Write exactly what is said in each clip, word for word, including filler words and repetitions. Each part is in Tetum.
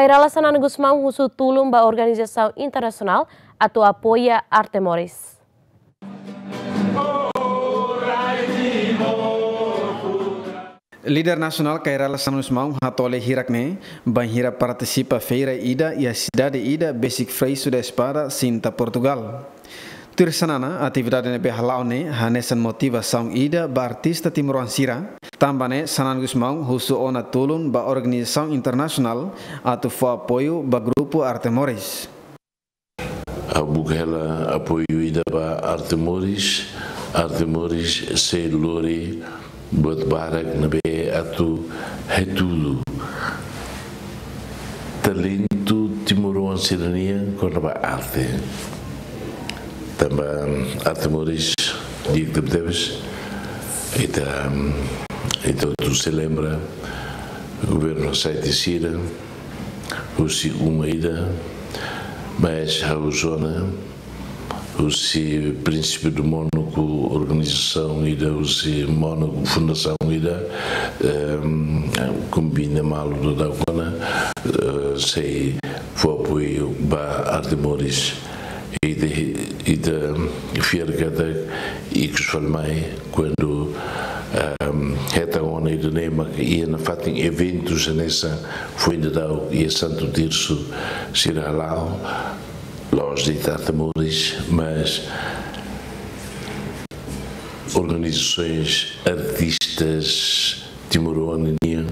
Kay Rala Xanana Gusmão husu tulun ba organizasaun internasionál atu apoia Arte Moris. Líder nasionál Kay Rala Xanana Gusmão hatoli hirak ne'e bainhira partisipa feira ida iha sidade ida besik Freixo da Espada, Sinta, Portugal. Tuir Xanana, atividade ne'ebé hala'o ne'e hanesan motivasaun ida ba artista timoroan sira. Tanba ne'e Xanana Gusmão husu ona tulun ba organizasaun internasionál atu fó apoiu ba grupu Arte Moris. Ha'u buka hela apoiu ida ba Arte Moris, Arte Moris sei lori buat barak ne'ebé atu hatudu talentu timoroan sira-nian kona-ba arte. Tanba Arte Moris di'ak tebetebes, ita, ita atu sei lembra governu sa'e tiha sira, husi uma ida, mas ha'u husu ona, husi princípio do Mónaco, organizasaun ida, husi Mónaco, fundasaun ida, ehm, kombina malu daudauk ona, eh, sei fó apoiu ba Arte Moris. Ita, ita fiar katak ikus fali mai, kuandu, ehm, hetan ona ida-ne'e mak iha nafatin eventus hanesan foin daudauk iha Santo Tirso sira hala'o, la'ós de'it Arte Moris, mas organizasoens artistas timoroan nian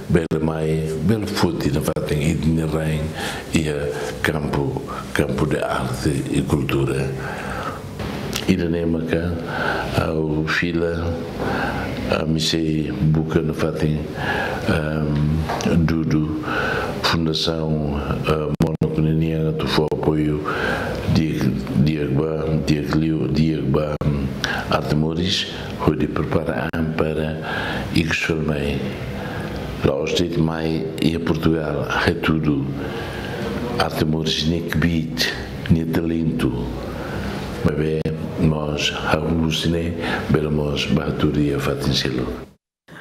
bele mai, bele foti nafatin ita-nia rain iha kampu, kampu de arte e kultura. Ida-ne'e maka ha'u fila, ami sei buka nafatin, ehm, dudu fundasaun, eh, Mónaco ninian atu fó apoiu di'ak, di'ak ba, di'ak liu, di'ak ba, mm, Arte Moris, hodi prepara an para ikus fali mai. La'ós de'it mai iha Portugal hatudu Arte Moris nia kbiit, nia talentu. Maibé mós ha'u husu ne'e bele mós ba hatudu iha fatin seluk.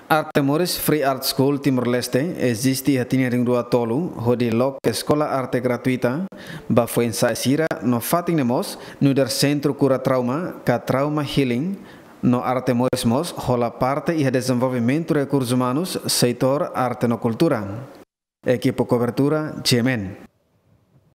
Arte Moris Free Art School Timor-Leste eziste iha tinan rihun rua tolu, hodi loke eskola arte gratuita ba foin-sa'e sira no fatin ne'e mós nu'udar sentru kura trauma ka trauma healing, no Arte Moris mós hola parte iha dezenvolvimentu rekursus umanus, setór arte no kultura. Ekipa kobertura, G M N.